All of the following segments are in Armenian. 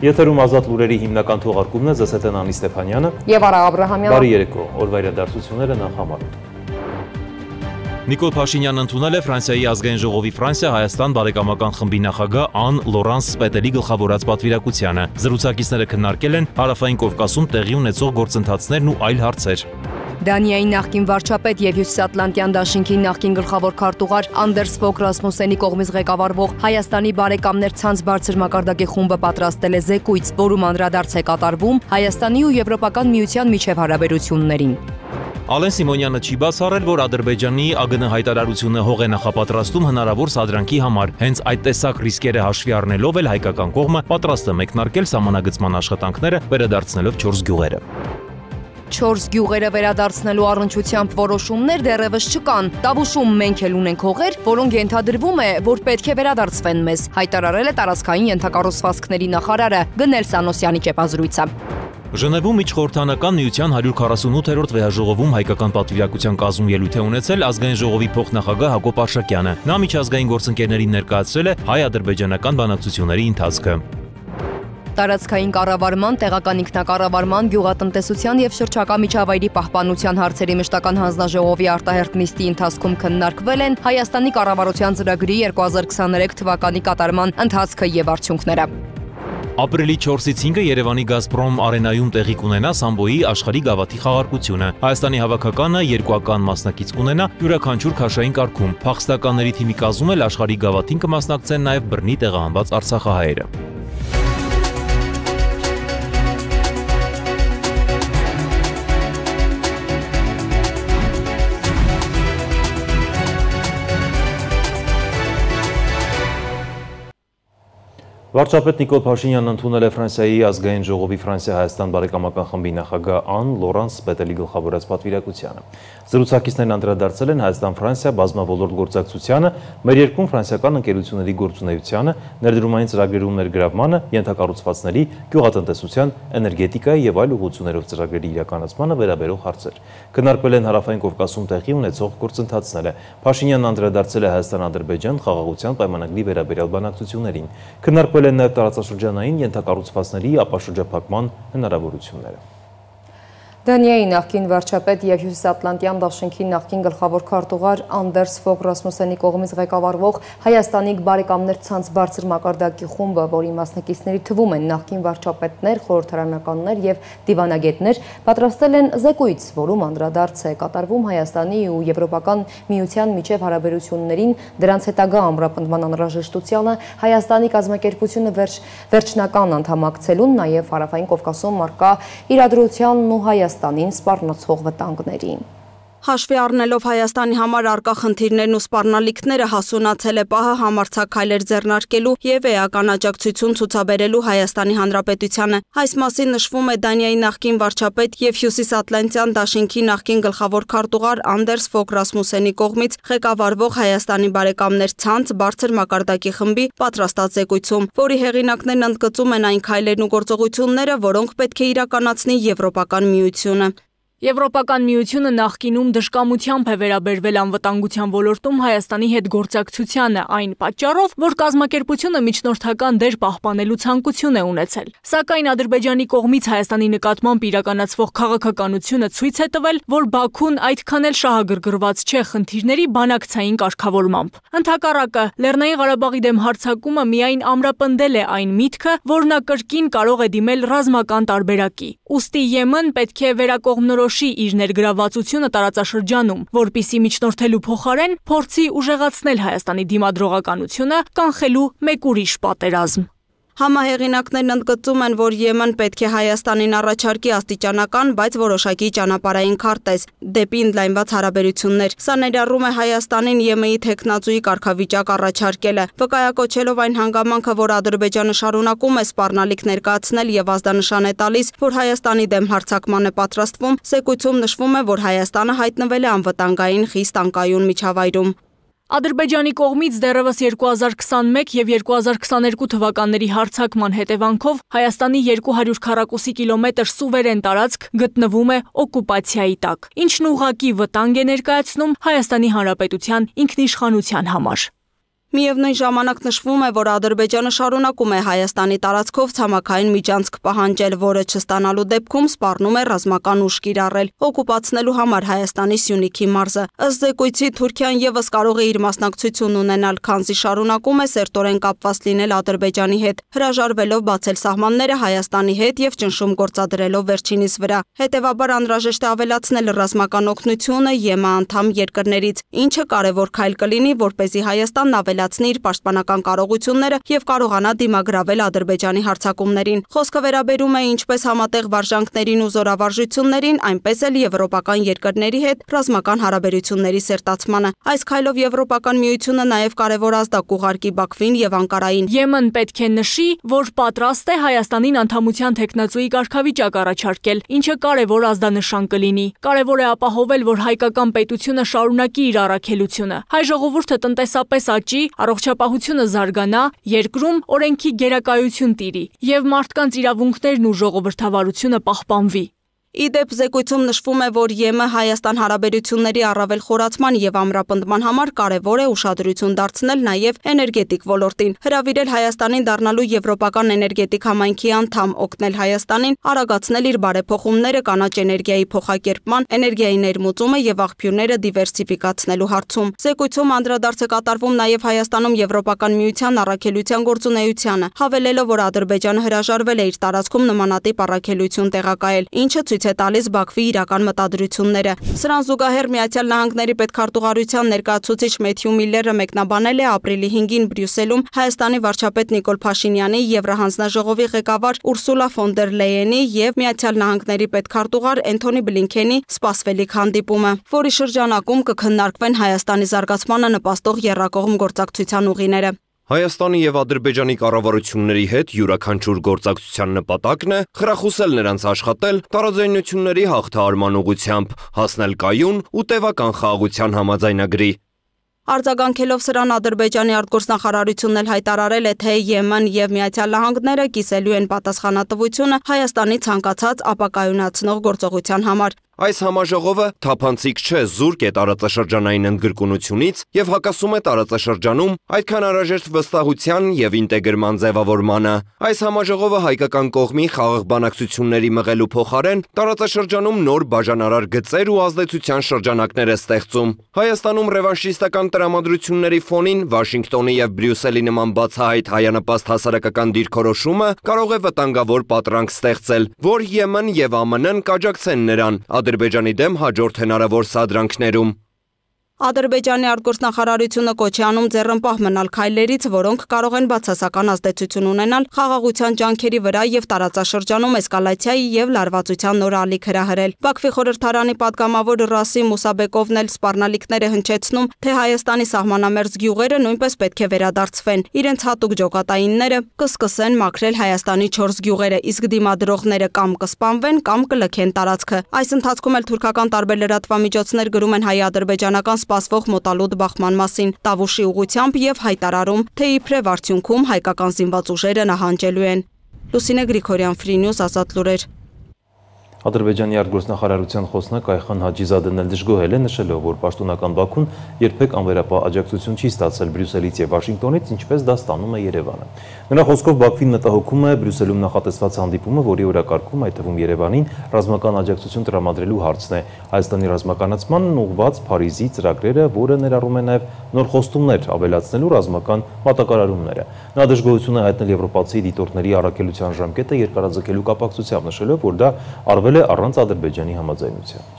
Եթերում ազատ լուրերի հիմնական թողարկումն է ԶՍՏ-ն Անի Ստեփանյանը եւ Արա Աբրահամյանը։ Բարի երեկո, օրվա իրադարձությունները նախամարում։ Նիկոլ Փաշինյանն ընդունել է Ֆրանսիայի ազգային ժողովի Ֆրանսիա-Հայաստան բարեկամական խմբի նախագահ Ան Լորանս Սպետելի գլխավորած պատվիրակությանը։ Զրուցակիցները քննարկել են Հարավային Կովկասում տեղի ունեցող գործընթացներն ու այլ հարցեր։ Դանիայի նախկին վարչապետ եւ Հյուսիսատլանտյան դաշինքի նախկին գլխավոր քարտուղար Անդերս Ֆոգ Ռասմուսենի կողմից ղեկավարվող Հայաստանի բարեկամներ ցանց բարձր մակարդակի խումբը պատրաստել է զեկույց, որում անդրադարձ է կատարվում Հայաստանի ու Եվրոպական միության միջև հարաբերություններին։ Ալեն Սիմոնյանը չի բացառել, որ Ադրբեջանի ԱԳՆ հայտարարությունը հող է նախապատրաստում հնարավոր սադրանքի համար։ Հենց այդ տեսակ ռիսկերը հաշվի առնելով էլ հայկական կողմը պատրաստ է մեկնարկել սահմանագծման աշխատանքները վերադարձնելով 4 գյուղերը։ 4 գյուղերը վերադարձնելու առնչությամբ որոշումներ դեռևս չկան։ Տավուշում մենք էլ ունենք հողեր, որոնք ենթադրվում է, որ պետք է վերադարձվեն մեզ, հայտարարել է տարածքային ենթակառուցվածքների նախարարը Գնել Սանոսյանի ճեպազրույցը։ Ժնևում միջխորհրդանական միության 148-րդ վեհաժողովում հայկական պատվիրակության կազմում ելույթ է ունեցել ազգային ժողովի փոխնախագահ Հակոբ Արշակյանը։ Նա միջազգային գործընկերներին ներկայացրել է հայ-ադրբեջանական բանակցությունների ընթացքը։ Տարածքային կառավարման, տեղական ինքնակառավարման, գյուղատնտեսության եւ շրջակա միջավայրի պահպանության հարցերի մշտական հանձնաժողովի արտահերթ նիստի ընթացքում քննարկվել են Հայաստանի կառավարության ծրագրի 2023 թվականի կատարման ընթացքը եւ արդյունքները։ Ապրիլի 4-ից 5-ը Երևանի Գազպրոմ արենայում տեղի կունենա Սամբոյի աշխարհի գավաթի խաղարկությունը։ Հայաստանի հավաքականը երկուական մասնակից կունենա յուրաքանչյուր քաշային կարգում։ Փախստականների թիմի կազմում էլ աշխարհի գավաթին կմասնակցեն նաև բռնի տեղահանված արցախահայերը։ Վարչապետ Նիկոլ Փաշինյանն ընդունել է Ֆրանսիայի ազգային ժողովի Ֆրանսիա-Հայաստան բարեկամական խմբի նախագահ Ան Լորանս Սպետելի գլխավորած պատվիրակությանը։ Զրուցակիցներն անդրադարձել են Հայաստան-Ֆրանսիա բազմավոլորտ գործակցությանը, մեր երկրում ֆրանսիական ընկերությունների գործունեությանը, ներդրումային ծրագրերում ներգրավմանը, ենթակառուցվածքների, գյուղատնտեսության, էներգետիկայի եւ այլ ուղղություններով ծրագրերի իրականացմանը վերաբերող հարցեր։ Քննարկվել են Հարավային Կովկասում տեղի ունեցող գործընթացները։ Փաշինյանն անդրադարձել է Հայաստան-Ադրբեջան խաղաղության պայմանագրի վերաբերյալ բանակցություններին։ Քննարկվել են նաև տարածաշրջանային ենթակառուցվածքների ապաշրջափակման հնարավորությունները։ Դանիայի նախկին վարչապետ եւ Հյուսիսատլանտյան դաշինքի նախկին գլխավոր քարտուղար Անդերս Ֆոգ Ռասմուսենի կողմից ղեկավարվող Հայաստանի բարեկամներ ցանց բարձր մակարդակի խումբը, որի մասնակիցների թվում են նախկին վարչապետներ, խորհրդարանականներ եւ դիվանագետներ, պատրաստել են զեկույց, որում անդրադարձ է կատարվում Հայաստանի ու Եվրոպական միության միջև հարաբերություններին, դրանց հետագա ամրապնդման անհրաժեշտությանը, Հայաստանի կազմակերպությունը վերջնական անդամակցելուն, նաեւ Հարավային Կովկասում առկա իրադրությանն ու Հայաստանին սպառնացող վտանգներին։ Հաշվի առնելով Հայաստանի համար առկա խնդիրներն ու սպառնալիքները հասունացել է պահը համարձակ քայլեր ձեռնարկելու եւ էական աջակցություն ցուցաբերելու Հայաստանի Հանրապետությանը։ Այս մասին նշվում է Դանիայի նախկին վարչապետ եւ Հյուսիսատլանտյան դաշինքի նախկին գլխավոր քարտուղար Անդերս Ֆոգ Ռասմուսենի կողմից ղեկավարվող Հայաստանի բարեկամներ ցանց բարձր մակարդակի խմբի պատրաստած զեկույցում, որի հեղինակներն ընդգծում են այն քայլերն ու գործողությունները, որոնք պետք է իրականացնի Եվրոպական միությունը։ Եվրոպական միությունը նախկինում դժկամությամբ է վերաբերվել անվտանգության ոլորտում Հայաստանի հետ գործակցությանը այն պատճառով, որ կազմակերպությունը միջնորդական դեր պահպանելու ցանկություն է ունեցել։ Սակայն Ադրբեջանի կողմից Հայաստանի նկատմամբ իրականացվող քաղաքականությունը ցույց է տվել, որ Բաքուն այդքան էլ շահագրգռված չէ խնդիրների բանակցային կարգավորմամբ։ Ընդհակառակը, Լեռնային Ղարաբաղի դեմ հարձակումը միայն ամրապնդել է այն միտքը, որ նա կրկին կարող է դիմել ռազմական տարբերակի։ Ուստի Եմեն պետք է վերակողմնորոշի իր ներգրավվածությունը տարածաշրջանում, որպիսի միջնորդելու փոխարեն փորձի ուժեղացնել Հայաստանի դիմադրողականությունը, կանխելու մեկ ուրիշ պատերազմ։ Համահեղինակներն ընդգծում են, որ Եմեն պետք է Հայաստանին առաջարկի աստիճանական, բայց որոշակի ճանապարհային քարտեզ դեպի ընդլայնված հարաբերություններ։ Սա ներառում է Հայաստանին Եմենի թեկնածուի կարգավիճակ առաջարկելը, վկայակոչելով այն հանգամանքը, որ Ադրբեջանը շարունակում է սպառնալիք ներկայացնել եւ ազդանշան է տալիս, որ Հայաստանի դեմ հարձակման է պատրաստվում։ Զեկույցում նշվում է, որ Հայաստանը հայտնվել է անվտանգային խիստ անկայուն միջավայրում։ Ադրբեջանի կողմից դեռևս 2021 եւ 2022 թվականների հարձակման հետևանքով Հայաստանի 200 քառակուսի կիլոմետր սուվերեն տարածք գտնվում է օկուպացիայի տակ, ինչն ուղղակի վտանգ է ներկայացնում Հայաստանի Հանրապետության ինքնիշխանության համար։ Միևնույն ժամանակ նշվում է, որ Ադրբեջանը շարունակում է Հայաստանի տարածքով ցամաքային միջանցք պահանջել, որը չստանալու դեպքում սպառնում է ռազմական ուժ կիրառել, օկուպացնելու համար Հայաստանի Սյունիքի մարզը։ Ըստ զեկույցի Թուրքիան ևս կարող է իր մասնակցությունն ունենալ, քանզի շարունակում է սերտորեն կապված լինել Ադրբեջանի հետ, հրաժարվելով բացել սահմանները Հայաստանի հետ եւ ճնշում գործադրելով վերջինիս վրա։ Հետևաբար անհրաժեշտ է ավելացնել ռազմական օգնությունը ԵՄ անդամ երկրներից, ինչը կարևոր քայլ կլինի, որպեսզի Հայաստանն ավելացնի իր պաշտպանական կարողությունները եւ կարողանա դիմագրավել Ադրբեջանի հարձակումներին։ Խոսքը վերաբերում է ինչպես համատեղ վարժանքներին ու զորավարժություններին, այնպես էլ եվրոպական երկրների հետ ռազմական հարաբերությունների սերտացմանը։ Այս քայլով Եվրոպական միությունը նաեւ կարևոր ազդակ ուղարկի Բաքվին եւ Անկարային։ ԵՄ-ն պետք է նշի, որ պատրաստ է Հայաստանին անդամության թեկնածուի կարգավիճակ առաջարկել, ինչը կարևոր ազդանշան կլինի։ Կարևոր է ապահովել, որ հայկական պետությունը շարունակի իր առաքելությունը։ Հայ ժողովուրդը տնտեսապես աճի, առողջապահությունը զարգանա, երկրում օրենքի գերակայություն տիրի եւ մարդկանց իրավունքներն ու ժողովրդավարությունը պահպանվի։ Իդեպ զեկույցում նշվում է, որ ԵՄ Հայաստան հարաբերությունների առավել խորացման եւ ամրապնդման համար կարևոր է ուշադրություն դարձնել նաեւ էներգետիկ ոլորտին, հրավիրել Հայաստանին դառնալու եվրոպական էներգետիկ համայնքի անդամ, օգնել Հայաստանին արագացնել իր բարեփոխումները կանաչ էներգիայի փոխակերպման, էներգիայի ներմուծումը եւ աղբյուրները դիվերսիֆիկացնելու հարցում։ Զեկույցում անդրադարձ է կատարվում նաեւ Հայաստանում Եվրոպական միության առաքելության գործունեությանը, հավելելով, որ Ադրբեջանը հրաժարվել է իր տարածքում նմանատիպ առաքելություն տեղակայել, ինչը ցույց է տալիս Բաքվի իրական մտադրությունները։ Սրան զուգահեռ Միացյալ Նահանգների պետքարտուղարության ներկայացուցիչ Մեթյու Միլլերը մեկնաբանել է ապրիլի 5-ին Բրյուսելում Հայաստանի վարչապետ Նիկոլ Փաշինյանի, Եվրահանձնաժողովի ղեկավար Ուրսուլա ֆոն դեր Լեյենի եւ Միացյալ Նահանգների պետքարտուղար Էնթոնի Բլինքենի սպասվելիք հանդիպումը, որի շրջանակում կքննարկվեն Հայաստանի զարգացմանը նպաստող եռակողմ գործակցության ուղիները։ Հայաստանի եւ Ադրբեջանի կառավարությունների հետ յուրաքանչյուր գործակցության նպատակն է խրախուսել նրանց աշխատել տարաձայնությունների հաղթահարման ուղղությամբ, հասնել կայուն ու տևական խաղաղության համաձայնագրի։ Արձագանքելով սրան Ադրբեջանի արտգործնախարարությունն էլ հայտարարել է, թե ԵՄ-ն եւ Միացյալ Նահանգները կիսելու են պատասխանատվությունը Հայաստանի ցանկացած ապակայունացնող գործողության համար։ Այս համաժողովը թափանցիկ չէ զուրկ է տարածաշրջանային ընդգրկունությունից եւ հակասում է տարածաշրջանում այդքան անհրաժեշտ վստահության եւ ինտեգրման ձևավորմանը։ Այս համաժողովը հայկական կողմի խաղաղ բանակցությունների մղելու փոխարեն տարածաշրջանում նոր բաժանարար գծեր ու ազդեցության շրջանակներ է ստեղծում։ Հայաստանում ռևանշիստական տրամադրությունների ֆոնին Վաշինգտոնի եւ Բրյուսելի նման բացահայտ հայանպաստ հասարակական դիրքորոշումը կարող է վտանգավոր պատրանք ստեղծել, որ ԵՄ-ն եւ ԱՄՆ-ն կաջակցեն նրան Ադրբեջանի դեմ հաջորդ հնարավոր սադրանքներում։ Ադրբեջանի արտգործնախարարությունը կոչ է անում ձեռնպահ մնալ քայլերից, որոնք կարող են բացասական ազդեցություն ունենալ խաղաղության ջանքերի վրա եւ տարածաշրջանում էսկալացիայի եւ լարվածության նոր ալիք հրահրել։ Բաքվի խորհրդարանի պատգամավոր Ռասիմ Մուսաբեկովն էլ սպառնալիքներ է հնչեցնում, թե Հայաստանի սահմանամերձ գյուղերը նույնպես պետք է վերադարձվեն։ Իրենց հատուկ ջոկատայինները կսկսեն մաքրել Հայաստանի 4 գյուղերը, իսկ դիմադրողները կամ կսպանվեն, կամ կլքեն տարածքը։ Այս ընթացքում էլ թուրքական տարբեր լրատվամիջոցներ գրում են հայ-ադրբեջանական սպասվող մոտալուտ բախման մասին Տավուշի ուղղությամբ եւ հայտարարում, թե իբրև արդյունքում հայկական զինված ուժերը նահանջելու են։ Լուսինե Գրիգորյան, Free News, Ազատ լուրեր։ Ադրբեջանի արտգործնախարարության խոսնակ Այխան Հաջիզադեն էլ դժգոհել է, նշելով, որ պաշտոնական Բաքուն երբեք անվերապահ աջակցություն չի ստացել Բրյուսելից եւ Վաշինգտոնից, ինչպես դա ստանում է Երևանը։ Նրա խոսքով Բաքվին մտահոգում է Բրյուսելում նախատեսված հանդիպումը, որի օրակարգում, այդ թվում Երևանին, ռազմական աջակցություն տրամադրելու հարցն է։ Հայաստանի ռազմականացմանն ուղղված Փարիզի ծրագրերը, որը ներառում է նաեւ նոր խոստումներ ավելացնելու ռազմական մատակարարումները։ Նա դժգոհություն է հայտնել եվրոպացի դիտորդների առաքելության ժամկետը երկարաձգելու կապակցությամբ, նշելով, որ դա արվել է առանց Ադրբեջանի համաձայնության։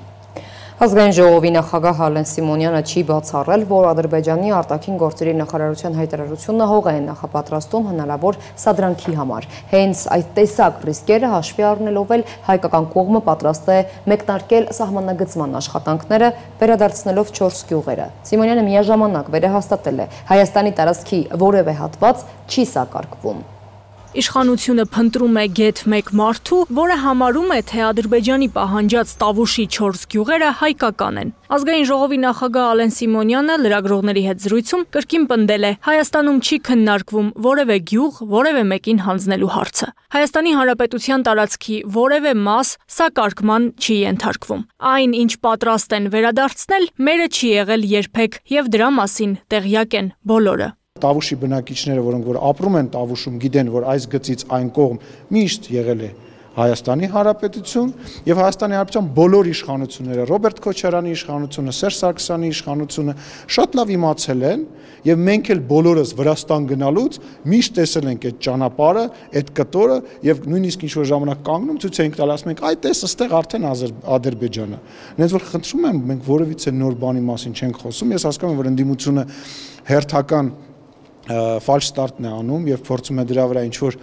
Ազգային ժողովի նախագահ Ալեն Սիմոնյանը չի բացառել, որ Ադրբեջանի արտաքին գործերի նախարարության հայտարարությունը հող է նախապատրաստում հնարավոր սադրանքի համար։ Հենց այդ տեսակ ռիսկերը հաշվի առնելով էլ հայկական կողմը պատրաստ է մեկնարկել սահմանագծման աշխատանքները, վերադարձնելով 4 գյուղերը։ Սիմոնյանը միաժամանակ վերահաստատել է, Հայաստանի տարածքի որևէ հատված չի սակարկվում։ Իշխանությունը փնտրում է գեթ մեկ մարդու, որը համարում է, թե Ադրբեջանի պահանջած Տավուշի 4 գյուղերը հայկական են։ Ազգային ժողովի նախագահ Ալեն Սիմոնյանը լրագրողների հետ զրույցում կրկին պնդել է, Հայաստանում չի քննարկվում որևէ գյուղ, որևէ մեկին հանձնելու հարցը։ Հայաստանի Հանրապետության տարածքի որևէ մաս սակարկման չի ենթարկվում։ Այն, ինչ պատրաստ են վերադարձնել, մերը չի եղել երբեք, եւ դրա մասին տեղյակ են բոլորը։ Տավուշի բնակիչները, որոնք որ ապրում են Տավուշում, գիտեն, որ այս գծից այն կողմ միշտ եղել է Հայաստանի Հանրապետություն եւ Հայաստանի Հանրապետության բոլոր իշխանությունները, Ռոբերտ Քոչարյանի իշխանությունը, Սերժ Սարգսյանի իշխանությունը շատ լավ իմացել են եւ մենք էլ բոլորս Վրաստան գնալուց միշտ տեսել ենք այդ ճանապարհը, այդ կտորը եւ նույնիսկ ինչ որ ժամանակ կանգնում ցույց ենք տալ, ասում ենք, այ տես, ըստեղ արդեն Ադրբեջանը։ Նենց որ խնդրում եմ, մենք որևիցե նոր բանի մասին չենք խոսում, ես հասկանում եմ, որ ընդդիմությունը հերթական ֆալշ ստարտն է անում եւ փորձում է դրա վրա ինչ-որ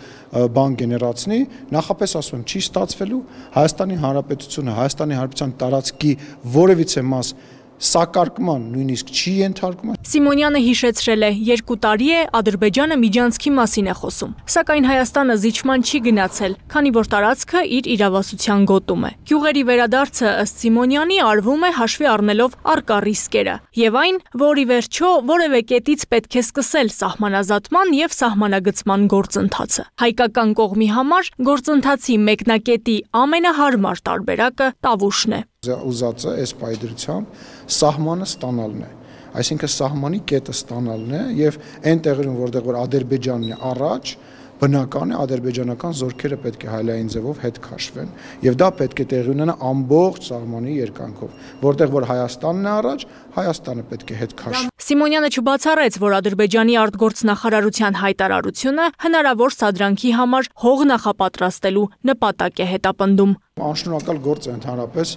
բան գեներացնի, նախապես ասում եմ, չի ստացվելու Հայաստանի Հանրապետությունը, Հայաստանի Հանրապետության տարածքի որևիցե մաս սակարկման նույնիսկ չի ենթարկում։ Սիմոնյանը հիշեցրել է, 2 տարի է Ադրբեջանը միջանցքի մասին է խոսում, սակայն Հայաստանը զիջման չի գնացել, քանի որ տարածքը իր իրավասության գոտում է։ Գյուղերի վերադարձը ըստ Սիմոնյանի արվում է հաշվի առնելով առկա ռիսկերը եւ այն, որ ի վերջո որևէ կետից պետք է սկսել սահմանազատման եւ սահմանագծման գործընթացը։ Հայկական կողմի համար գործընթացի մեկնակետի ամենահարմար տարբերակը Տավուշն է։ Ուզածը այս պայդրությամբ սահմանը ստանալն է, այսինքն սահմանի կետը ստանալն է եւ այն տեղերում, որտեղ որ Ադրբեջանն է առաջ, բնական է ադրբեջանական զորքերը պետք է հայլային ձևով հետ քաշվեն եւ դա պետք է տեղի ունենա ամբողջ սահմանի երկայնքով, որտեղ որ Հայաստանն է առաջ, Հայաստանը պետք է հետ քաշվի։ Սիմոնյանը չբացառեց, որ Ադրբեջանի արտգործնախարարության հայտարարությունը հնարավոր սադրանքի համար հող նախապատրաստելու նպատակ է հետապնդում։ Անշնորհակալ գործ է ընդհանրապես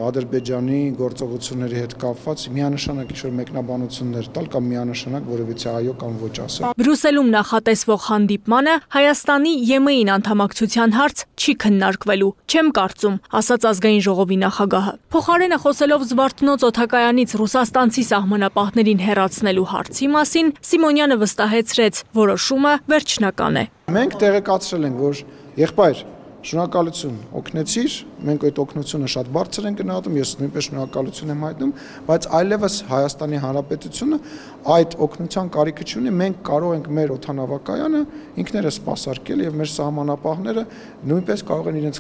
Ադրբեջանի գործողությունների հետ կապված միանշանակ ինչ-որ մեկնաբանություններ տալ կամ միանշանակ որևիցե այո կամ ոչ ասել։ Բրյուսելում նախատեսվող հանդիպմանը Հայաստանի ԵՄ-ին անդամակցության հարց չի քննարկվելու, չեմ կարծում, ասաց ազգային ժողովի նախագահը։ Փոխարենը խոսելով Զվարթնոց օդակայանից ռուսաստանցի սահմանապահներին հեռացնելու հարցի մասին, Սիմոնյանը վստահեցրեց, որոշումը վերջնական է։ Մենք տեղեկացրել ենք, որ եղբայր շնորհակալություն օգնեցիր, մենք այդ օգնությունը շատ բարձր ենք գնահատում, ես նույնպես շնորհակալություն եմ հայտնում, բայց այլևս Հայաստանի Հանրապետությունը այդ օգնության կարիքը չունի, մենք կարող ենք մեր օդանավակայանը ինքներս սպասարկել եւ մեր սահմանապահները նույնպես կարող են իրենց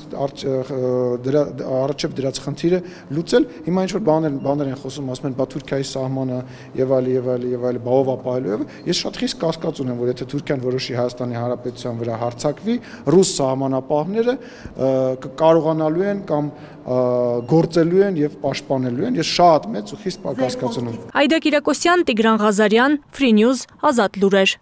առաջև դրած խնդիրը լուծել։ Հիմա ինչ որ բաներ են խոսում, ասում են, բա Թուրքիայի սահմանը եւ այլ, բավով ապահովելու եւ ես շատ խիստ կասկած ունեմ, որ եթե Թուրքիան որոշի Հայաստանի Հանրապետության վրա հարձակվի, ռուս սահմանապահները կարողանալու են կամ գործելու են եւ պաշտպանելու են։ Ես շատ մեծ ու խիստ կասկած ունեմ։ Այդա Կիրակոսյան, Տիգրան Ղազարյան, Free News, Ազատ լուրեր։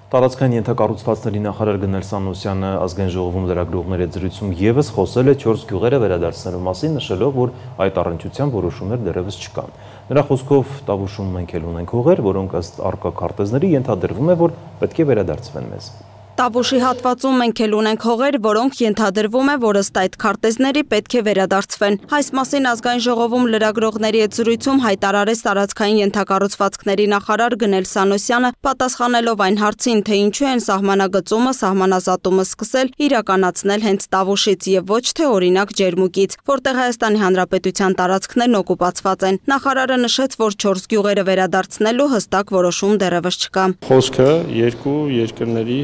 Տարածքային ենթակառուցվածքների նախարար Գնել Սանոսյանը ազգային ժողովում լրագրողների հետ զրույցում եւս խոսել է 4 գյուղերը վերադարձնելու մասին, նշելով, որ այդ առընչությամբ որոշումներ դեռևս չկան։ Նրա խոսքով Տավուշում մենք էլ ունենք հողեր, որոնք ըստ առկա քարտեզների ենթադրվում է, որ պետք է վերադարձվեն մեզ։ Տավուշի հատվածում մենք էլ ունենք հողեր, որոնք ենթադրվում է, որ ըստ այդ քարտեզների պետք է վերադարձվեն։ Այս մասին ազգային ժողովում լրագրողների հետ զրույցում հայտարարեց տարածքային ենթակառուցվածքների նախարար Գնել Սանոսյանը, պատասխանելով այն հարցին, թե ինչու են սահմանագծումը, սահմանազատումը սկսել իրականացնել հենց Տավուշից եւ ոչ թե օրինակ Ջերմուկից, որտեղ Հայաստանի Հանրապետության տարածքներն օկուպացված են։ Նախարարը նշեց, որ 4 գյուղերը վերադարձնելու հստակ որոշում դեռևս չկա։ Խոսքը երկու երկրների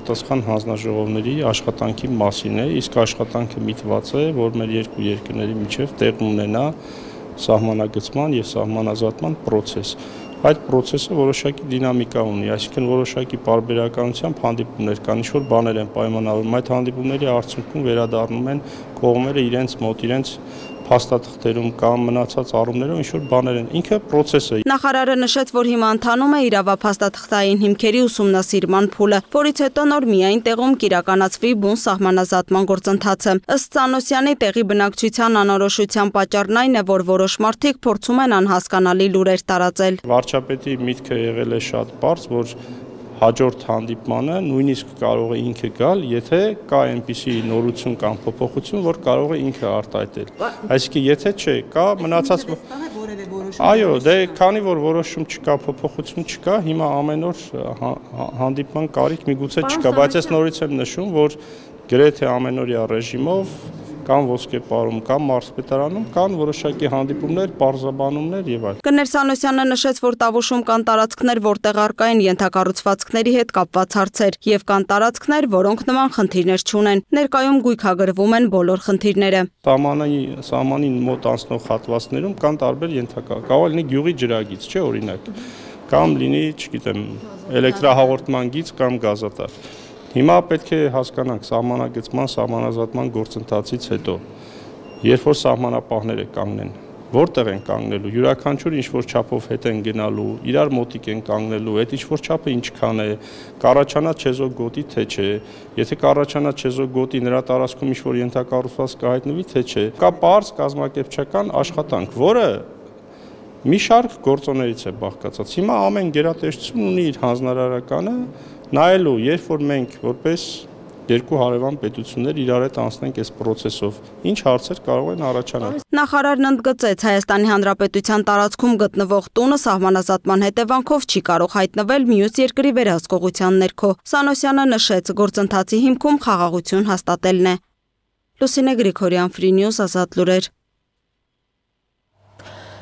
պատասխան հանձնաժողովների աշխատանքի մասին է, իսկ աշխատանքը միտված է, որ մեր երկու երկրների միջև տեղ ունենա սահմանագծման եւ սահմանազատման process։ Այդ process-ը որոշակի դինամիկա ունի, այսինքն որոշակի պարբերականությամբ հանդիպումներ կան, ինչ-որ բաներ են պայմանավորվում, այդ հանդիպումների արդյունքում վերադառնում են կողմերը իրենց մոտ, իրենց փաստաթղթերում կամ մնացած առումներով ինչ-որ բաներ են, ինքը process է։ Նախարարը նշեց, որ հիմա ընթանում է իրավափաստաթղթային հիմքերի ուսումնասիրման փուլը, որից հետո նոր միայն տեղում կիրականացվի բուն սահմանազատման գործընթացը։ Ըստ Սանոսյանի, տեղի բնակչության անորոշության պատճառն այն է, որ որոշ մարդիկ փորձում են անհասկանալի լուրեր տարածել։ Վարչապետի միտքը եղել է շատ բարձ, որ հաջորդ հանդիպմանը նույնիսկ կարող է ինքը գալ, եթե կա այնպիսի նորություն կամ փոփոխություն, որ կարող է ինքը արտահայտել։ Այսինքն, եթե չէ, կա մնացած այո, դե քանի որ որոշում չկա, փոփոխություն չկա, հիմա ամեն օր հանդիպման կարիք միգուցե չկա, բայց ես նորից եմ նշում, որ գրեթե ամենօրյա ռեժիմով կամ ոսկեպարում, կամ մարզպետարանում կան որոշակի հանդիպումներ, պարզաբանումներ եւ այլն։ Գնել Սանոսյանը նշեց, որ Տավուշում կան տարածքներ, որտեղ առկա են ենթակառուցվածքների հետ կապված հարցեր, եւ կան տարածքներ, որոնք նման խնդիրներ չունեն։ Ներկայում գույքագրվում են բոլոր խնդիրները։ Սահմանին մոտ անցնող հատվածներում կան տարբեր ենթակա, կարող լինի գյուղի ջրագիծ, չէ՞ օրինակ։ կամ լինի, չգիտեմ, էլեկտրահաղորդման գիծ կամ գազատար։ Հիմա պետք է հասկանանք սահմանագծման, սահմանազատման գործընթացից հետո, երբ որ սահմանապահները կանգնեն, որտեղ են կանգնելու, յուրաքանչյուր ինչ-որ չափով հետ են գնալու, իրար մոտիկ են կանգնելու, այդ ինչ-որ չափը ինչքան է, կառաջանա չեզոք գոտի թե չէ, եթե կառաջանա չեզոք գոտի նրա տարածքում ինչ-որ ենթակառուցված կհայտնվի թե չէ, կա պարզ կազմակերպչական աշխատանք, որը մի շարք գործոններից է բաղկացած։ Հիմա ամեն գերատեսչություն ունի իր հանձնարարականը, նայելու, երբ որ մենք որպես երկու հարևան պետություններ իրար հետ անցնենք այս process-ով, ինչ հարցեր կարող են առաջանալ։ Նախարարն ընդգծեց, Հայաստանի Հանրապետության տարածքում գտնվող տունը սահմանազատման հետևանքով չի կարող հայտնվել մյուս երկրի վերահսկողության ներքո։ Սանոսյանը նշեց, գործընթացի հիմքում խաղաղություն հաստատելն է։ Լուսինե Գրիգորյան, Free News, Ազատ լուրեր։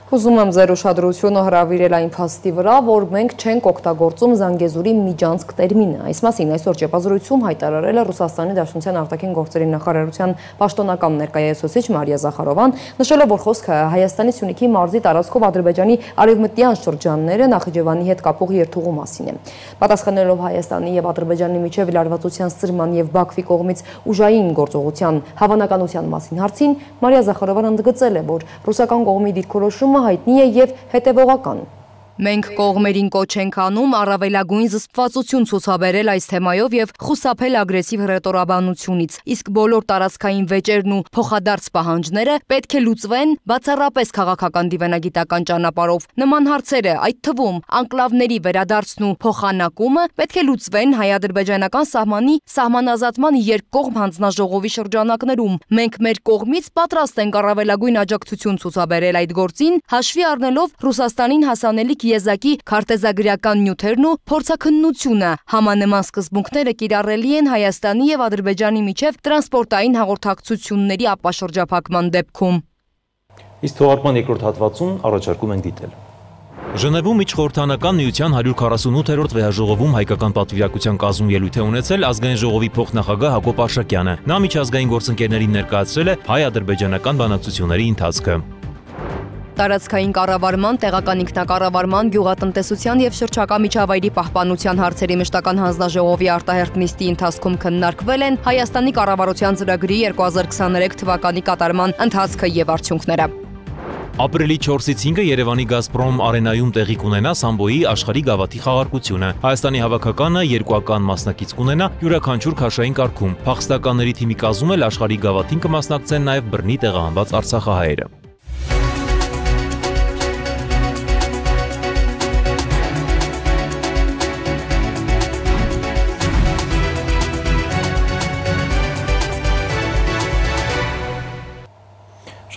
Ուզում եմ ձեր ուշադրությունը հրավիրել այն փաստի վրա, որ մենք չենք օգտագործում Զանգեզուրի միջանցք տերմինը։ Այս մասին այսօր ճեպազրույցում հայտարարել է Ռուսաստանի Դաշնության արտաքին գործերի նախարարության պաշտոնական ներկայացուցիչ Մարիա Զախարովան, նշելով, որ խոսքը Հայաստանի Սյունիքի մարզի տարածքով Ադրբեջանի արևմտյան շրջանները Նախիջևանի հետ կապող երթուղու մասին է։ Պատասխանելով Հայաստանի եւ Ադրբեջանի միջև լարվածության սրման եւ Բաքվի կողմից ուժային գործողության հավանականության մասին հարցին, Մարիա Զախարովան ընդգծել է, որ ռուսական կողմի դիրքորոշումը հայտնի է եւ հետևողական։ Մենք կողմերին կոչ ենք անում առավելագույն զսպվածություն ցուցաբերել այս թեմայով եւ խուսափել ագրեսիվ հռետորաբանությունից, իսկ բոլոր տարածքային վեճերն ու փոխադարձ պահանջները պետք է լուծվեն բացառապես քաղաքական դիվանագիտական ճանապարհով։ Նման հարցերը, այդ թվում անկլավների վերադարձն ու փոխանակումը, պետք է լուծվեն հայ-ադրբեջանական սահմանի սահմանազատման երկկողմ հանձնաժողովի շրջանակներում։ Մենք մեր կողմից պատրաստ ենք առավելագույն աջակցություն ցուցաբերել այդ գործին, հաշվի առնելով Ռուսաստանին հասանելիք եզակի քարտեզագրական նյութերն ու փորձաքննությունը, համանման սկզբունքները կիրառելի են Հայաստանի եւ Ադրբեջանի միջև տրանսպորտային հաղորդակցությունների ապաշրջափակման դեպքում։ Իսկ թողարկման երկրորդ հատվածում առաջարկում ենք դիտել։ Ժնևում միջխորհրդանական միության 148-րդ վեհաժողովում հայկական պատվիրակության կազմում ելույթ է ունեցել ազգային ժողովի փոխնախագահ Հակոբ Արշակյանը։ Նա միջազգային գործընկերներին ներկայացրել է հայ-ադրբեջանական բանակցությունների ընթացքը։ Տարածքային կառավարման, տեղական ինքնակառավարման, գյուղատնտեսության եւ շրջակա միջավայրի պահպանության հարցերի մշտական հանձնաժողովի արտահերթ նիստի ընթացքում քննարկվել են Հայաստանի կառավարության ծրագրի 2023 թվականի կատարման ընթացքը եւ արդյունքները։ Ապրիլի 4-ից 5-ը Երևանի Գազպրոմ արենայում տեղի կունենա Սամբոյի աշխարհի գավաթի խաղարկությունը։ Հայաստանի հավաքականը երկուական մասնակից կունենա յուրաքանչյուր քաշային կարգում։ Փախստականների թիմի կազմում էլ աշխարհի գավաթին կմասնակցեն նաեւ բռնի տեղահանված արցախահայերը։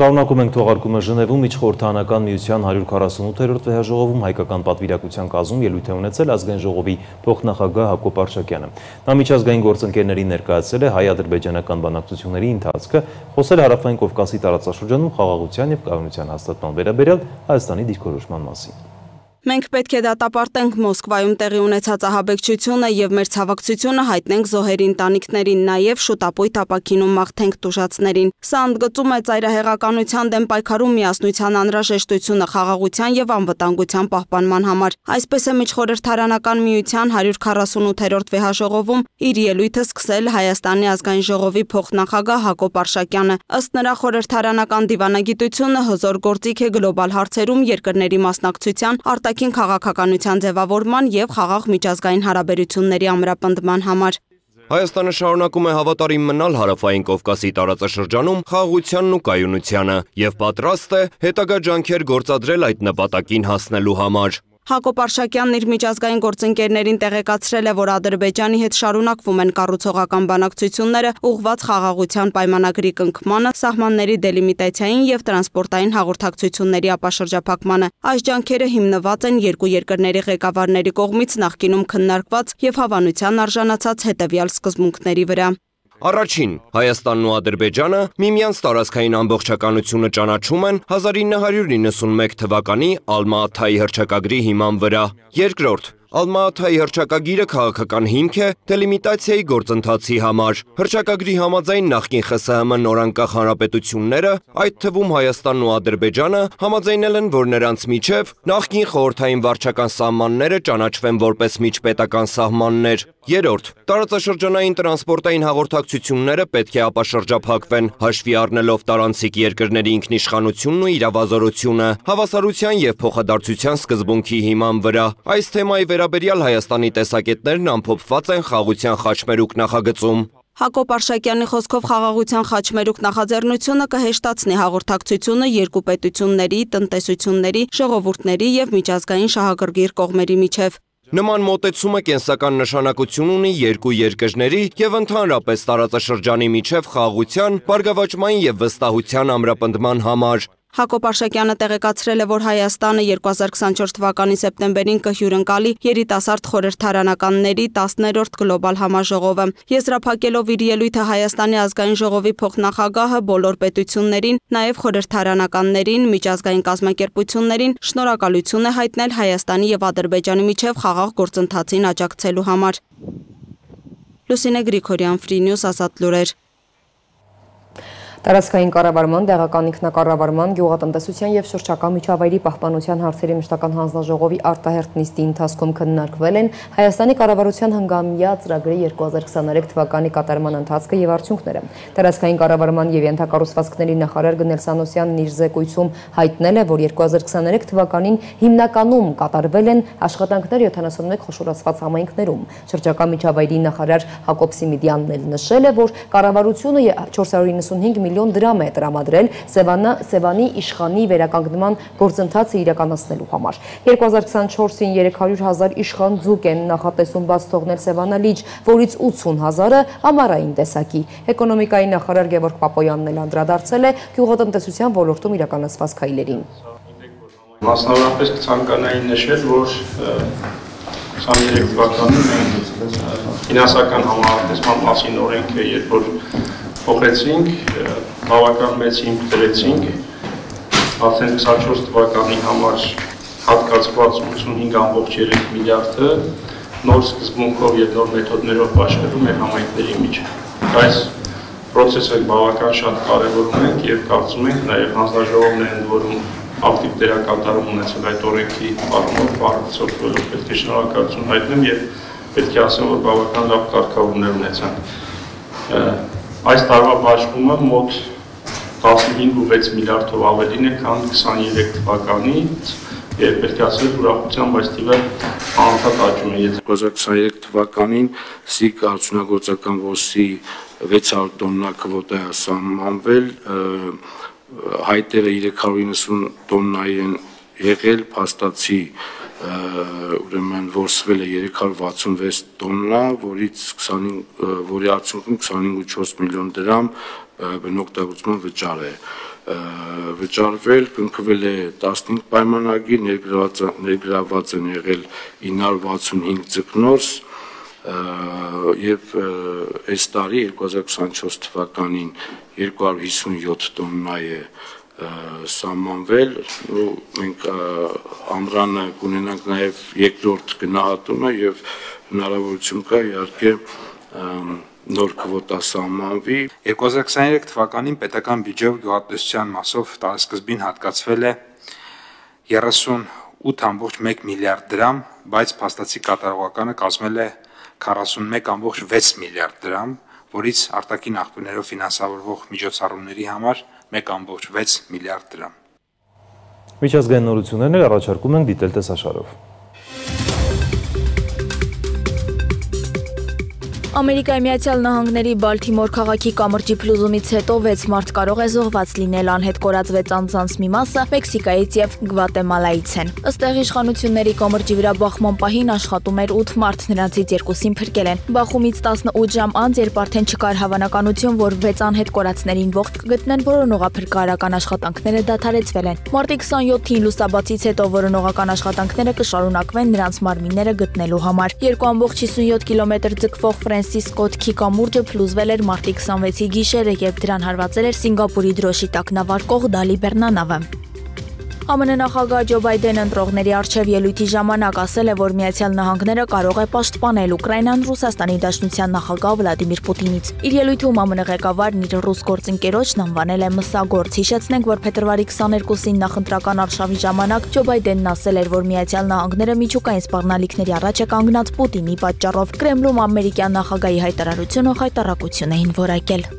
Շարունակում ենք թողարկումը Ժնևում միջխորհրդանական միության 148-րդ վեհաժողովում հայկական պատվիրակության կազմում ելույթ է ունեցել ազգային ժողովի փոխնախագահ Հակոբ Արշակյանը։ Նա միջազգային գործընկերներին ներկայացրել է հայ-ադրբեջանական բանակցությունների ընթացքը, խոսել Հարավային Կովկասի տարածաշրջանում խաղաղության եւ կայունության հաստատման վերաբերյալ Հայաստանի դիրքորոշման մասին։ Մենք պետք է դատապարտենք Մոսկվայում տեղի ունեցած ահաբեկչությունը եւ մեր ցավակցությունը հայտնենք զոհերի ընտանիքներին, նաեւ շուտապույտ ապակինում մաղթենք տուժածներին։ Սա ընդգծում է ծայրահեղականության դեմ պայքարում միասնության անհրաժեշտությունը խաղաղության եւ անվտանգության պահպանման համար։ Այսպես է միջխորհրդարանական միության 148-րդ վեհաժողովում իր ելույթը սկսել Հայաստանի ազգային ժողովի փոխնախագահ Հակոբ Արշակյանը։ Ըստ նրա խորհրդարանական դիվանագիտությունը հզոր գործիք է գլոբալ հարցերում երկրների մասնակցության, արտաքին քաղաքականության ձևավորման եւ խաղաղ միջազգային հարաբերությունների ամրապնդման համար։ Հայաստանը շարունակում է հավատարիմ մնալ Հարավային Կովկասի տարածաշրջանում խաղաղությանն ու կայունությանը եւ պատրաստ է հետագա ջանքեր գործադրել այդ նպատակին հասնելու համար։ Հակոբ Արշակյանն իր միջազգային գործընկերներին տեղեկացրել է, որ Ադրբեջանի հետ շարունակվում են կառուցողական բանակցությունները ուղղված խաղաղության պայմանագրի կնքմանը, սահմանների դելիմիտացիային եւ տրանսպորտային հաղորդակցությունների ապաշրջափակմանը։ Այս ջանքերը հիմնված են երկու երկրների ղեկավարների կողմից նախկինում քննարկված եւ հավանության արժանացած հետեւյալ սկզբունքների վրա։ Առաջին, Հայաստանն ու Ադրբեջանը միմյանց տարածքային ամբողջականությունը ճանաչում են 1991 թվականի Ալմա-Աթայի հռչակագրի հիման վրա։ Երկրորդ, Ալմա-Աթայի հռչակագիրը քաղաքական հիմք է դելիմիտացիայի գործընթացի համար։ Հռչակագրի համաձայն նախկին ԽՍՀՄ նորանկախ հանրապետությունները, այդ թվում Հայաստանն ու Ադրբեջանը, համաձայնել են, որ նրանց միջև նախկին խորհրդային վարչական սահմանները ճանաչվեն որպես միջպետական սահմաններ։ Երրորդ, տարածաշրջանային տրանսպորտային հաղորդակցությունները պետք է ապաշրջափակվեն, հաշվի առնելով տարանցիկ երկրների ինքնիշխանությունն ու իրավազորությունը, հավասարության և փոխադարձության սկզբունքի հիման վրա։ Այս թեմայի վերաբերյալ Հայաստանի տեսակետներն ամփոփված են Խաղաղության խաչմերուկ նախագծում։ Հակոբ Արշակյանի խոսքով խաղաղության խաչմերուկ նախաձեռնությունը կհեշտացնի հաղորդակցությունը երկու պետությունների, տնտեսությունների, ժողովուրդների և միջազգային շահագրգիռ կողմերի միջև։ Նման մոտեցումը կենսական նշանակություն ունի երկու երկրների և ընդհանրապես տարածաշրջանի միջև խաղաղության, բարգավաճման և վստահության ամրապնդման համար։ Հակոբ Արշակյանը տեղեկացրել է, որ Հայաստանը 2024 թվականի սեպտեմբերին կհյուրընկալի երիտասարդ խորհրդարանականների 10-րդ գլոբալ համաժողովը։ Եզրափակելով իր ելույթը Հայաստանի ազգային ժողովի փոխնախագահը բոլոր պետություններին, նաև խորհրդարանականներին, միջազգային կազմակերպություններին շնորհակալություն է հայտնել Հայաստանի և Ադրբեջանի միջև խաղաղ գործընթացին աջակցելու համար։ Լուսինե Գրիգորյան, Free News, Ազատ լուրեր։ Տարածքային կառավարման, տեղական ինքնակառավարման, գյուղատնտեսության և շրջակա միջավայրի պահպանության հարցերի մշտական հանձնաժողովի արտահերթ նիստի ընթացքում քննարկվել են Հայաստանի կառավարության հնգամյա ծրագրի 2023 թվականի կատարման ընթացքը և արդյունքները։ Տարածքային կառավարման և ենթակառուցվածքների նախարար Գնել Սանոսյանն իր զեկույցում հայտնել է, որ 2023 թվականին հիմնականում կատարվել են աշխատանքներ 71 խոշորացված համայնքներում։ Շրջակա միջավայրի նախարար Հակոբ Սիմիդյանն էլ նշել է, որ կառավարությունը 495 միլիոն դրամ է տրամադրել Սևանի իշխանի վերականգնման գործընթացը իրականացնելու համար։ 2024-ին 300,000 իշխան ձուկ են նախատեսում բաց թողնել Սևանալիճ, որից 80,000-ը ամառային տեսակի։ Էկոնոմիկայի նախարար Գևորգ Պապոյանն էլ անդրադարձել է գյուղատնտեսության ոլորտում իրականացված քայլերին։ Մասնավորապես կցանկանայի նշել, որ 23 թվականին մենք ֆինանսական համահատեսման մասին օրենքը երբ որ փոխեցինք, բավական մեծ հիմք դրեցինք, արդեն 24 թվականի համար հատկացված 85.3 միլիարդը նոր սկզբունքով և նոր մեթոդներով աշխատում մեր համայնքների միջև։ Այս պրոցեսը բավական շատ կարևորում ենք և կարծում ենք նաև հանձնաժողովն է ընդ որում ակտիվ դերակատարում ունեցել այդ օրենքի առումով բարձրացնելով պետք է շնորհակալություն հայտնեմ և պետք է ասեմ, որ բավական լավ կարգավորումներ ունեցան։ Այս տարվա բաշխումը մոտ 15.6 միլիարդով ավելին է, քան 23 թվականից և պետք է ասել ուրախությամբ այս թիվը անընդհատ աճում է։ 2023 թվականին ՍԻԿ արդյունագործական ոսի 600 տոննա քվոտա է սահմանվել, հայտերը 390 տոննայի են եղել, փաստացի ուրեմն որսվել է 366 տոննա, որի արդյունքում 25.4 միլիոն դրամ բնօգտագործման վճար է վճարվել, կնքվել է 15 պայմանագիր, ներգրաված են եղել 965 ձկնորս և այս տարի 2024 թվականին 257 տոննա է սահմանվել, մենք ամռանը կունենանք նաև երկրորդ գնահատումը և հնարավորություն կա իհարկե նոր քվոտա սահմանվի։ 2023 թվականին պետական բյուջեով գյուղատնտեսության մասով տարեսկզբին հատկացվել է 38.1 միլիարդ դրամ, բայց փաստացի կատարողականը կազմել է 41.6 միլիարդ դրամ, որից արտաքին աղբյուրներով ֆինանսավորվող միջոցառումների համար 1.6 միլիարդ դրամ։ Միջազգային նորություններն առաջարկում ենք դիտել տեսաշարով։ Ամերիկայի Միացյալ Նահանգների Բալթիմոր քաղաքի կամրջի փլուզումից հետո 6 մարդ կարող է զոհված լինել, անհետ կորածվեց անձանց մի մասը Մեքսիկայից եւ Գվատեմալայից են։ Ըստ իշխանությունների կամրջի վրա բախման պահին աշխատում էր 8 մարդ, նրանցից 2-ին փրկել են։ Բախումից 18 ժամ անց, երբ արդեն չկար հավանականություն, որ 6 անհետ կորածներին ողջ կգտնեն, որոնողափրկարարական աշխատանքները դադարեցվել են։ Մարտի 27-ին լուսաբացից հետո որոնողական աշխատանքները կշարունակվեն նրանց մարմինները գտնելու համար։ 2.57 կիլոմետր ձգվող Ֆրանսիս Սկոթքի կամուրջը փլուզվել էր մարտի 26-ի գիշերը, երբ դրան հարվածել էր Սինգապուրի դրոշի տակ նավարկող Դալի բեռնանավը։ ԱՄՆ նախագահ Ջո Բայդենը ընտրողների առջև ելույթի ժամանակ ասել է, որ Միացյալ Նահանգները կարող է պաշտպանել Ուկրաինան Ռուսաստանի Դաշնության նախագահ Վլադիմիր Պուտինից։ Իր ելույթում ԱՄՆ ղեկավարն իր ռուս գործընկերոջն անվանել է մսագործ։ Հիշեցնենք, որ փետրվարի 22-ին նախընտրական արշավի ժամանակ Ջո Բայդենն ասել էր, որ Միացյալ Նահանգները միջուկային սպառնալիքների առաջ է կանգնած Պուտինի պատճառով։ Կրեմլում ամերիկյան նախագահի հայտարարությունը խայտառակություն էին որակել։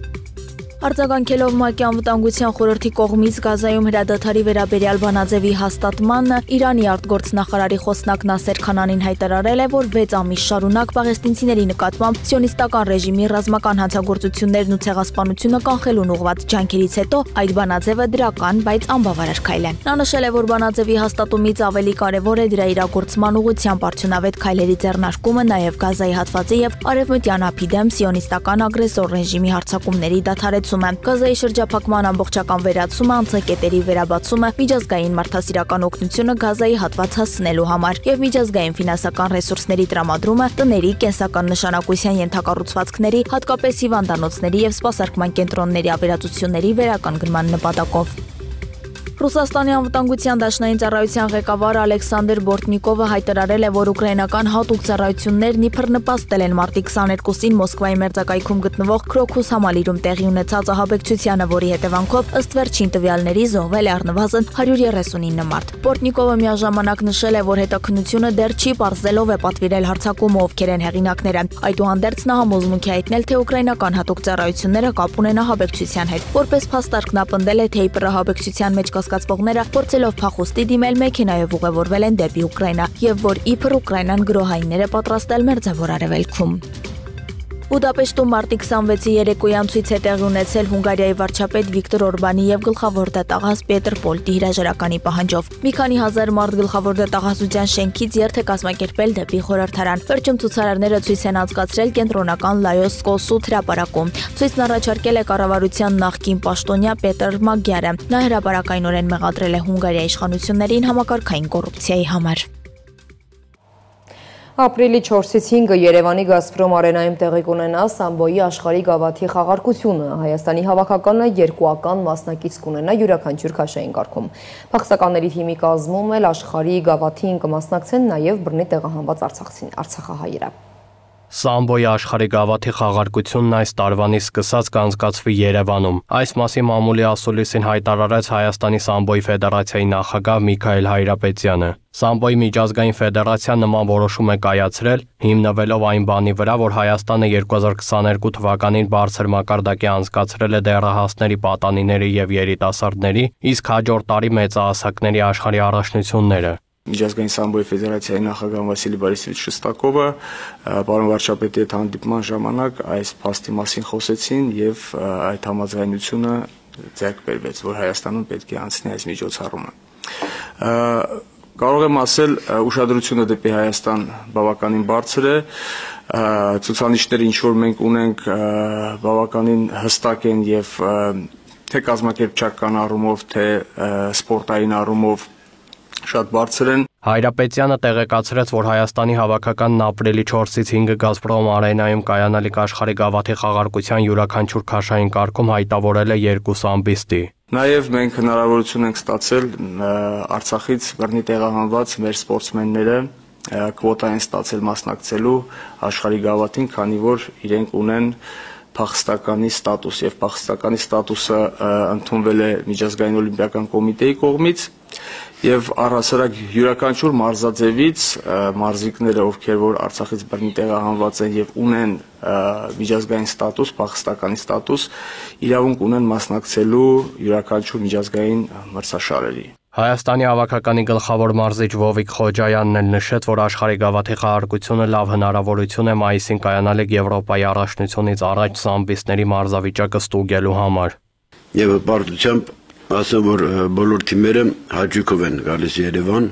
Արձագանքելով ՄԱԿ-ի անվտանգության խորհրդի կողմից Գազայում հրադադարի վերաբերյալ բանաձևի հաստատմանը, Իրանի արտգործնախարարի խոսնակ Նասեր Քանանին հայտարարել է, որ 6 ամիս շարունակ պաղեստինցիների նկատմամբ սիոնիստական ռեժիմի ռազմական հանցագործություններն ու ցեղասպանությունը կանխելուն ուղղված ջանքերից հետո այդ բանաձևը դրական, բայց անբավարար քայլ է։ Նա նշել է, որ բանաձևի հաստատումից ավելի կարևոր է դրա իրագործման ուղղությամբ արդյունավետ քայլերի ձեռնարկումը, նաև Գազայի հատվածի եւ Արևմտյան ափի դեմ սիոնիստական ագրեսոր ռեժիմի հարձակումների դադարեցումը, Գազայի շրջափակման ամբողջական վերացումը, անցակետերի վերաբացումը, միջազգային մարդասիրական օգնությունը Գազայի հատված հասցնելու համար եւ միջազգային ֆինանսական ռեսուրսների տրամադրումը, տների, կենսական նշանակության ենթակառուցվածքների, հատկապես հիվանդանոցների եւ սպասարկման կենտրոնների ավերածությունների վերականգնման նպատակով։ Ռուսաստանի անվտանգության դաշնային ծառայության ղեկավար Ալեքսանդր Բորտնիկովը հայտարարել է, որ ուկրաինական հատուկ ծառայություններն իբր նպաստել են մարտի 22-ին Մոսկվայի մերձակայքում գտնվող Քրոքուս համալիրում տեղի ունեցած ահաբեկչությանը, որի հետևանքով ըստ վերջին տվյալների զոհվել է առնվազն 139 մարդ։ Բորտնիկովը միաժամանակ նշել է, որ հետաքննությունը դեռ չի պարզելով է պատվիրել հարձակումը ովքեր են հեղինակները։ Այդուհանդերձ նա համոզմունք է հայտնել, թե ուկրաինական հատուկ ծառայությունները կապ ունեն ահաբեկչության հետ։ Որպես փաստարկ նա պնդել է, թե իբր ահաբեկչության մեջ կասկածվողները փորձելով փախուստի դիմել մեքենայով ուղևորվել են դեպի Ուկրաինա եւ որ իբր Ուկրաինան գրոհայիններ է պատրաստել Մերձավոր Արևելքում։ Բուդապեշտում մարտի 26-ի երեկոյան ցույց է տեղի ունեցել Հունգարիայի վարչապետ Վիկտոր Օրբանի եւ գլխավոր դատախազ Պետր Պոլտի հրաժարականի պահանջով։ Մի քանի հազար մարդ գլխավոր դատախազության շենքից երթ է կազմակերպել դեպի խորհրդարան։ Վերջում ցուցարարները ցույց են անցկացրել կենտրոնական Լայոս Կոսուտ հրապարակում։ Ցույցն առաջարկել է կառավարության նախկին պաշտոնյա Պետր Մագյարը։ Նա հրապարակայնորեն մեղադրել է Հունգարիայի իշխանություններին համակարգային կոռուպցիայի համար։ Ապրիլի 4-ից 5-ը Երևանի Գազպրոմ արենայում տեղի կունենա Սամբոյի աշխարհի գավաթի խաղարկությունը։ Հայաստանի հավաքականը երկուական մասնակից կունենա յուրաքանչյուր քաշային կարգում։ Փախստականների թիմի կազմում էլ աշխարհի գավաթին կմասնակցեն նաև բռնի տեղահանված արցախահայերը։ Սամբոյի աշխարհի գավաթի խաղարկությունն այս տարվանից սկսած կանցկացվի Երևանում։ Այս մասի մամուլի ասուլիսին հայտարարեց Հայաստանի Սամբոյի ֆեդերացիայի նախագահ Միքայել Հայրապետյանը։ Սամբոյի միջազգային ֆեդերացիան նման որոշում է կայացրել, հիմնվելով այն բանի վրա, որ Հայաստանը 2022 թվականին բարձր մակարդակի անցկացրել է դեռահասների, պատանիների եւ երիտասարդների, իսկ հաջորդ տարի մեծահասակների աշխարհի առաջնությունները։ Միջազգային Սամբոյի ֆեդերացիայի նախագահ Վասիլի Բորիսովիչ Շստակովը պարոն վարչապետի հետ հանդիպման ժամանակ այս փաստի մասին խոսեցին եւ այդ համաձայնությունը ձեռք բերվեց, որ Հայաստանում պետք է անցնի այս միջոցառումը։ Կարող եմ ասել, ուշադրությունը դեպի Հայաստան բավականին բարձր է, ցուցանիշները ինչ որ մենք ունենք բավականին հստակ են եւ թե կազմակերպչական առումով, թե սպորտային առումով շատ բարձր են։ Հայրապետյանը տեղեկացրեց, որ Հայաստանի հավաքականն ապրիլի 4-ից 5-ը Գազպրոմ արենայում կայանալիք աշխարհի գավաթի խաղարկության յուրաքանչյուր քաշային կարգում հայտավորել է 2 ամբիստի։ Նաև մենք հնարավորություն ենք ստացել Արցախից բռնի տեղահանված մեր սպորտսմենները կվոտա են ստացել մասնակցելու աշխարհի գավաթին, քանի որ իրենք ունեն փախստականի ստատուս եւ փախստականի ստատուսը ընդունվել է Միջազգային օլիմպիական կոմիտեի կողմից եւ առհասարակ յուրաքանչյուր մարզաձևից մարզիկները, ովքեր որ Արցախից բռնի տեղահանված են եւ ունեն միջազգային ստատուս, փախստականի ստատուս, իրավունք ունեն մասնակցելու յուրաքանչյուր միջազգային մրցաշարերի։ Հայաստանի հավաքականի գլխավոր մարզիչ Վովիկ Խոջայանն էլ նշեց, որ աշխարհի գավաթի խաղարկությունը լավ հնարավորություն է մայիսին կայանալիք Եվրոպայի առաջնությունից առաջ սամբիստների մարզավիճակը ստուգելու համար։ Եվ բարդությամբ ասեմ, որ բոլոր թիմերը հաճույքով են գալիս Երևան,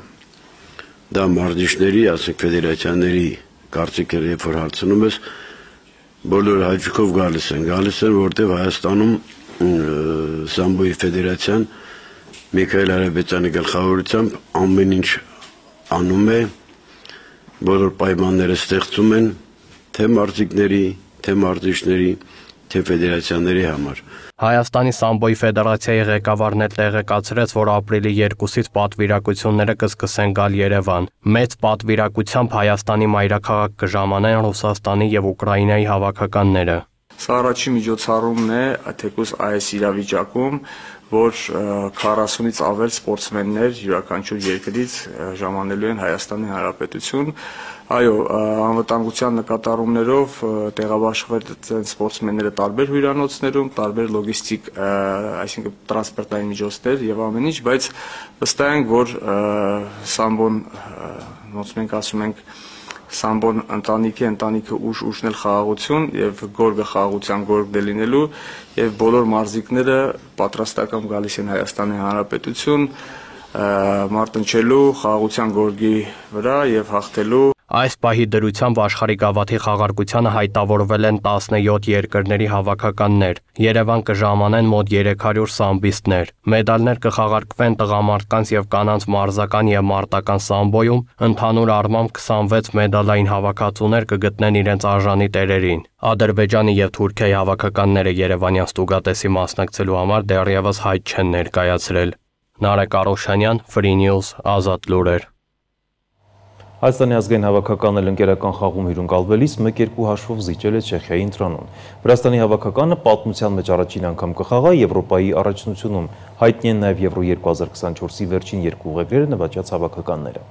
դա մարզիչների, ասենք ֆեդերացիաների կարծիքերը, երբ որ հարցնում ես, բոլոր հաճույքով գալիս են, որտեղ Հայաստանում Սամբոյի ֆեդերացիան Միքայել Հայրապետյանի գլխավորությամբ ամեն ինչ անում է, բոլոր պայմանները ստեղծում են թե մարզիկների, թե մարզիչների, թե ֆեդերացիաների համար։ Հայաստանի Սամբոյի ֆեդերացիայի ղեկավարն էլ տեղեկացրեց, որ ապրիլի 2-ից պատվիրակությունները կսկսեն գալ Երևան։ Մեծ պատվիրակությամբ Հայաստանի մայրաքաղաք կժամանեն Ռուսաստանի եւ Ուկրաինայի հավաքականները։ Սա առաջին միջոցառումն է, թեկուզ այս իրավիճակում, որ 40-ից ավել սպորտսմեններ յուրաքանչյուր երկրից ժամանելու են Հայաստանի Հանրապետություն։ Այո, անվտանգության նկատառումներով տեղաբաշխվել են սպորտսմենները տարբեր հյուրանոցներում, տարբեր լոգիստիկ, այսինքն տրանսպորտային միջոցներ եւ ամեն ինչ, բայց վստահ ենք, որ Սամբոն, ոնց մենք ասում ենք, Սամբոն ընտանիքը ուժն էլ խաղաղություն եւ գորգը խաղաղության գորգ դե լինելու եւ բոլոր մարզիկները պատրաստական գալիս են Հայաստանի Հանրապետություն մարտնչելու խաղաղության գորգի վրա եւ հաղթելու։ Այս պահի դրությամբ աշխարհի գավաթի խաղարկությանը հայտավորվել են 17 երկրների հավաքականներ։ Երևան կժամանեն մոտ 300 սամբիստներ։ Մեդալներ կխաղարկվեն տղամարդկանց եւ կանանց մարզական եւ մարտական սամբոյում, ընդհանուր առմամբ 26 մեդալային հավաքածուներ կգտնեն իրենց արժանի տերերին։ Ադրբեջանի եւ Թուրքիայի հավաքականները Երևանյան ստուգատեսի մասնակցելու համար դեռևս հայտ չեն ներկայացրել։ Նարեկ Արոշանյան, Free News, Ազատ լուրեր։ Հայաստանի ազգային հավաքականն էլ ընկերական խաղում հյուրընկալվելիս 1-2 հաշվով զիջել է Չեխիայի ընտրանուն։ Վրաստանի հավաքականը պատմության մեջ առաջին անգամ կխաղա Եվրոպայի առաջնությունում։ Հայտնի են նաև Եվրո 2024-ի վերջին երկու ուղեգրերը նվաճած հավաքականները։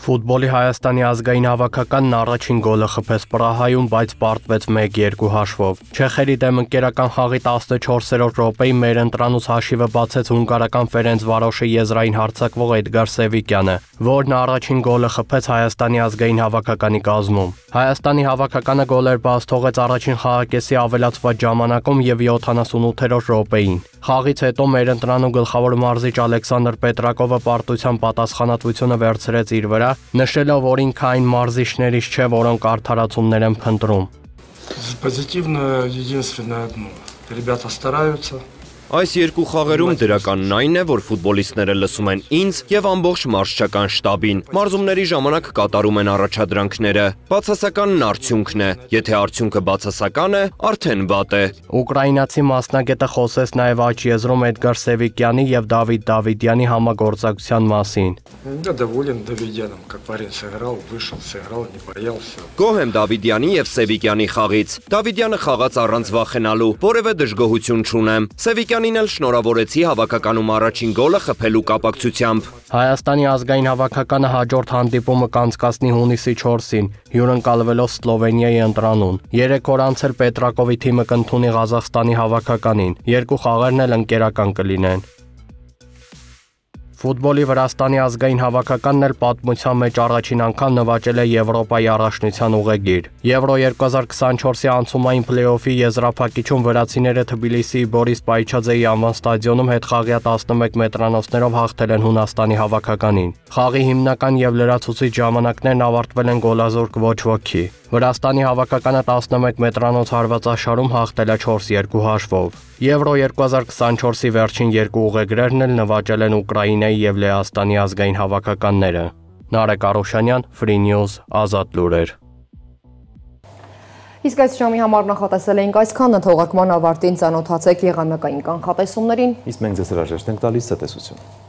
Ֆուտբոլի Հայաստանի ազգային հավաքականն առաջին գոլը խփեց Պրահայում, բայց պարտվեց 1-2 հաշվով։ Չեխերի դեմ ընկերական խաղի 14-րդ րոպեին մեր ընտրանուց հաշիվը բացեց հունգարական Ֆերենցվարոշի եզրային հարձակվող Էդգար Սևիկյանը, որն առաջին գոլը խփեց Հայաստանի ազգային հավաքականի կազմում։ Հայաստանի հավաքականը գոլեր բաց թողեց առաջին խաղակեսի ավելացված ժամանակում եւ 78-րդ րոպեին։ Խաղից հետո մեր ընտրանու գլխավոր մարզիչ Ալեքսանդր Պետրակովը պարտության պատասխանատվությունը վերցրեց իր վրա, նշելով, որ ինքը այն մարզիչներից չէ, որոնք արդարացումներ են փնտրում։ Позитивно единственное одно. Ребята стараются. Այս երկու խաղերում դրականն այն է, որ ֆուտբոլիստները լսում են ինձ եւ ամբողջ մարզչական շտաբին։ Մարզումների ժամանակ կատարում են առաջադրանքները։ Բացասականն արդյունքն է։ Եթե արդյունքը բացասական է, արդեն վատ է։ Ուկրաինացի մասնագետը խոսեց նաև աջ եզրում Էդգար Սևիկյանի եւ Դավիթ Դավիդյանի համագործակցության մասին։ Я доволен Давидяном, как парень сыграл, вышел, сыграл, не боялся։ Գոհ եմ Դավիդյանի եւ Սևիկյանի խաղից։ Դավիդյանը խաղաց առանց վախենալու, որևէ դժգոհություն չունեմ։ Սևիկյանին էլ շնորհավորեցի հավաքականում առաջին գոլը խփելու կապակցությամբ։ Հայաստանի ազգային հավաքականը հաջորդ հանդիպումը կանցկացնի հունիսի 4-ին, հյուրընկալվելով Սլովենիայի ընտրանուն։ 3 օր անց էլ Պետրակովի թիմը կընդունի Ղազախստանի հավաքականին։ Երկու խաղերն էլ ընկերական կլինեն։ Ֆուտբոլի Վրաստանի ազգային հավաքականն էլ պատմության մեջ առաջին անգամ նվաճել է Եվրոպայի առաջնության ուղեգիր։ Եվրո 2024-ի անցումային փլեյօֆի եզրափակիչում վրացիները Թբիլիսիի Բորիս Պայչաձեի անվան ստադիոնում հետխաղյա 11 մետրանոցներով հաղթել են Հունաստանի հավաքականին։ Խաղի հիմնական եւ լրացուցիչ ժամանակներն ավարտվել են գոլազուրկ ոչ ոքի։ Վրաստանի հավաքականը 11 մետրանոց հարվածաշարում հաղթել է 4-2 հաշվով։ Եվրո 2024-ի վերջին երկու ուղեգրերն էլ նվաճել են Ուկրաինայի եւ Լեհաստանի ազգային հավաքականները։ Նարեկ Արոշանյան, Free News, Ազատ լուրեր։ Իսկ այս ժամի համար նախատեսել էինք այսքանը, թողարկման ավարտին ծանոթացեք եղանակային կանխատեսումներին։ Իսկ մենք ձեզ հրաժեշտ ենք տալիս ցտեսություն։